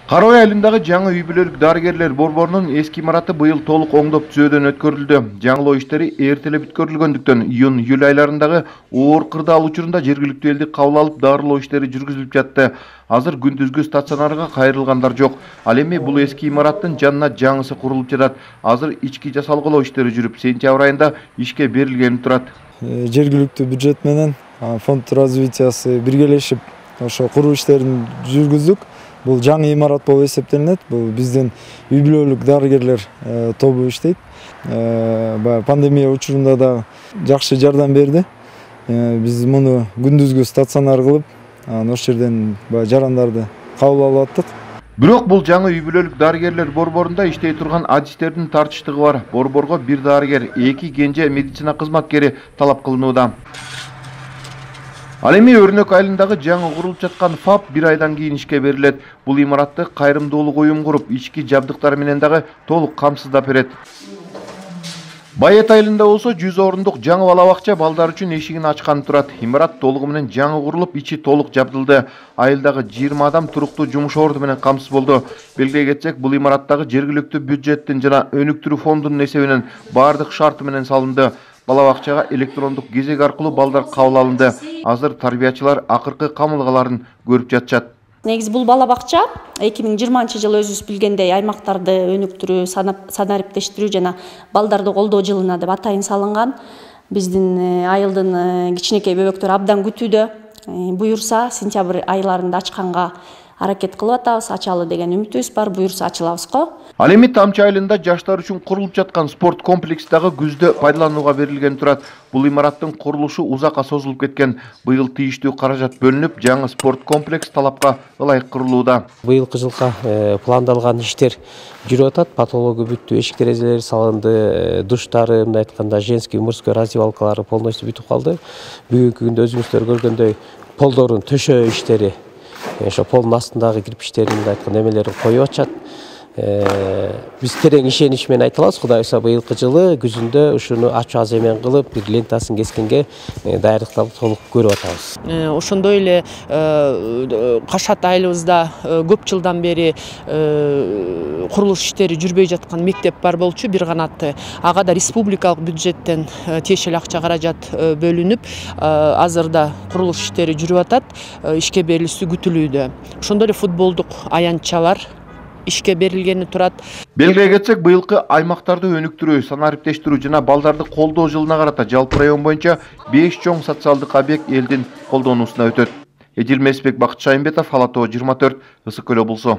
Кара Ой айылындагы жаңы үй бүлөлүк дарыгерлер борборунун эски имараты быйыл толук оңдоп түзөөдөн өткөрүлдү. Жаңылоо иштери эртелеп бүткөрүлгөндүктөн июнь-июль айларындагы оор кырдаал учурунда жергиликтүү элди кабыл алып дарылоо иштери жүргүзүлүп жатты. Азыр күндүзгү стационарга кайрылгандар жок. Ал эми бул эски имараттын жанына жаңысы курулуп жатат. Азыр ички жасалгылоо иштери жүрүп, сентябрь айында ишке берилгени турат. Жергиликтүү бюджет менен фонд развитиясы биргелешип ошо куруу иштерин жүргүздүк. Бул жаңы имарат болуп эсептелинет. Бул биздин үй бүлөлүк дарыгерлер тобу иштейт. Пандемия учурунда да жакшы жардам берди. Биз муну күндүзгү стационар кылып, ошол жерден жарандарды кабыл алып аттык. Бирок бул жаңы үй бүлөлүк дарыгерлер борборунда иштей турган адистердин тартыштыгы бар. Борборго бир дарыгер, 2 кенже медицина кызматкери талап кылынууда. Ал эми Өрнөк айылындагы жаңы курулуп жаткан ФАП 1 айдан кийин ишке берилет. Бул имаратты кайрымдуулук уюм куруп, ички жабдыктар менен дагы толук камсыздап берет. Байет айылында болсо 100 орундук жаңы бала бакча балдар үчүн эшигин ачкан турат. Имарат толугу менен жаңы курулуп, ичи толук жабдылды. Айылдагы 20 адам туруктуу жумуш орду менен камсыз болду. Белгилей кетсек, бул имараттагы жергиликтүү бюджеттин жана өнүктүрүү фондунун эсебинен бардык шарты менен салынды. Бала бакчага электрондук кезек аркылуу балдар кабыл алынды. Азыр тарбиячылар акыркы камылгаларын көрүп жатышат. Негизи бул бала бакча 2020-жылы өзүбүз билгендей аймактарды өнүктүрүү, санариптештирүү жана балдарды колдоо жылына деп атайын салынган. Биздин айылдын кичинекей бөбөктөрү абдан күтүүдө. Буюрса сентябрь айларында ачканга аракет кылып атабыз, ачалы деген үмүтүбүз бар, буюрса ачылабыз го. Ал эми Тамчы айылында жаштар үчүн курулуп жаткан спорт комплекси дагы күздө пайдаланууга берилген турат. Бул имараттын курулушу узакка созулуп кеткен. Быйыл тийиштүү каражат бөлүнүп, жаңы спорт комплекс талапка ылайык курулууда. Быйылкы жылга пландалган иштер жүрүп атат. Патология бүттү, эшик терезелери салынды, душтары, мындай айтканда женский, мужской раздевалкалары полностью бүтүп калды. Бүгүнкү күндө өзүңүздөр көргөндөй полдордун төшөө иштери, ошо полдун астындагы кирпичтердин мындай айтканда эмелерин коюп атышат. Биз терең ишенич менен айта алабыз, Кудай буйрса быйылкы жылы күзүндө ушуну ачуу аземен кылып, бир лентасын кескенге даярдыктарды толук көрүп атабыз. Ошондой эле Кашат айылыбызда көп жылдан бери курулуш иштери жүрбөй жаткан мектеп бар болчу, бир канатты. Ага да республикалык бюджеттен тиешелүү акча каражат бөлүнүп, азырда курулуш иштери жүрүп атат, ишке берилүүсү күтүлүүдө. Ошондой эле футболдук аянтчалар ишке берилгени турат. Белгилей кетсек, быйылкы аймактарды өнүктүрүү, санариптештирүү жана балдарды колдоо жылына карата жалпы район боюнча 5 чоң социалдык объект элдин колдонуусуна өтөт. Эдил Месбек, Бакыт Шайымбетов, Ала Тоо 24, Ысык Көл облусу.